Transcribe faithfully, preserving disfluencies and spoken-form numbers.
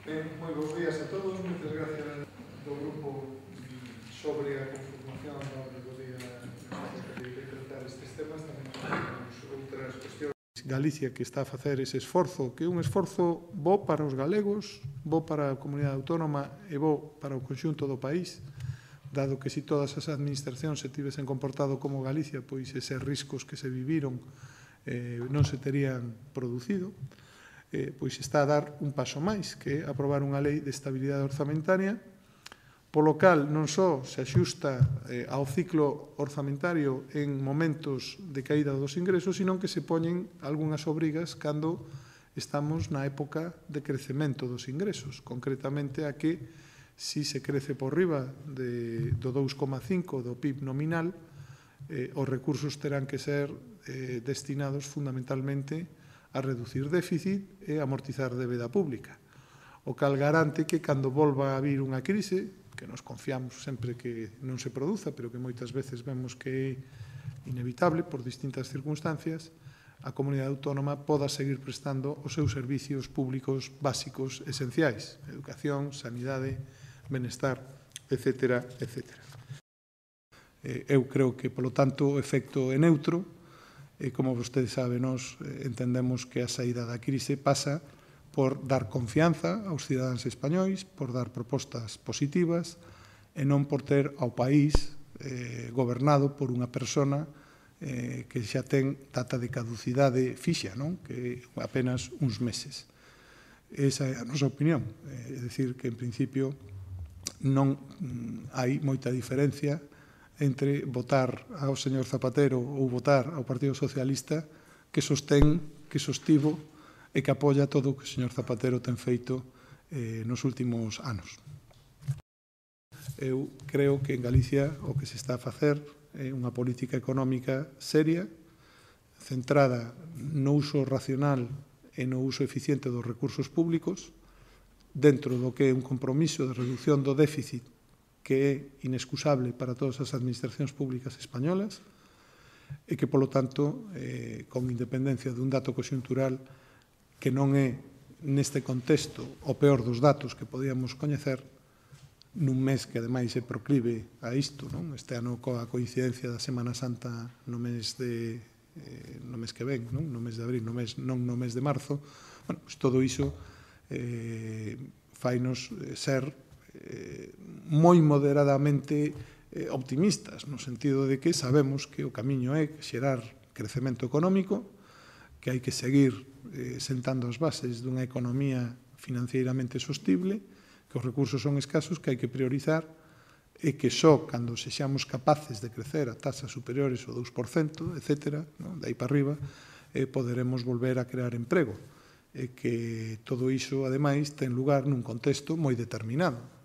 Ben, moi bons días a todos, moitas gracias do grupo sobre a conformación do día de tratar estes temas. Tamén temos outras cuestións. Galicia que está a facer ese esforzo, que é un esforzo bo para os galegos, bo para a comunidade autónoma e bo para o conxunto do país, dado que se todas as administracións se tivesen comportado como Galicia, pois eses riscos que se viviron eh, non se terían producido. Eh, pois está a dar un paso máis, que é aprobar unha lei de estabilidade orzamentaria, polo cal non só se axusta eh, ao ciclo orzamentario en momentos de caída dos ingresos, sino que se poñen algunhas obrigas cando estamos na época de crecemento dos ingresos, concretamente a que, si se crece por riba de, do dous coma cinco do P I B nominal, eh, os recursos terán que ser eh, destinados fundamentalmente a reducir déficit e amortizar débeda pública, o cal garante que cando volva a vir unha crise, que nos confiamos sempre que non se produza, pero que moitas veces vemos que é inevitable por distintas circunstancias, a comunidade autónoma poda seguir prestando os seus servicios públicos básicos esenciais, educación, sanidade, benestar, etcétera, etcétera. Eu creo que, polo tanto, o efecto é neutro. E, como vostede sabe, nós entendemos que a saída da crise pasa por dar confianza aos cidadáns españois, por dar propostas positivas e non por ter ao país eh, gobernado por unha persona eh, que xa ten data de caducidade fixa, non? Que é apenas uns meses. Esa é a nosa opinión. É dicir, que en principio non hai moita diferencia entre votar ao señor Zapatero ou votar ao Partido Socialista, que sostén, que sostivo e que apoia todo o que o señor Zapatero ten feito eh, nos últimos anos. Eu creo que en Galicia o que se está a facer é unha política económica seria, centrada no uso racional e no uso eficiente dos recursos públicos, dentro do que é un compromiso de reducción do déficit que é inexcusable para todas as administracións públicas españolas e que, polo tanto, eh, con independencia dun dato conxuntural que non é, neste contexto, o peor dos datos que podíamos coñecer, nun mes que, ademais, é proclive a isto, non? Este ano, coa coincidencia da Semana Santa no mes de eh, no mes que ven, non? No mes de abril, no mes, non no mes de marzo, bueno, pues todo iso eh, fainos ser Eh, moi moderadamente eh, optimistas, no sentido de que sabemos que o camiño é xerar crecemento económico, que hai que seguir eh, sentando as bases dunha economía financieiramente sostible, que os recursos son escasos, que hai que priorizar e que só cando sexamos capaces de crecer a tasas superiores ao dous por cento, etcétera, non? De aí para arriba, eh, poderemos volver a crear emprego. E que todo iso, ademais, ten lugar nun contexto moi determinado.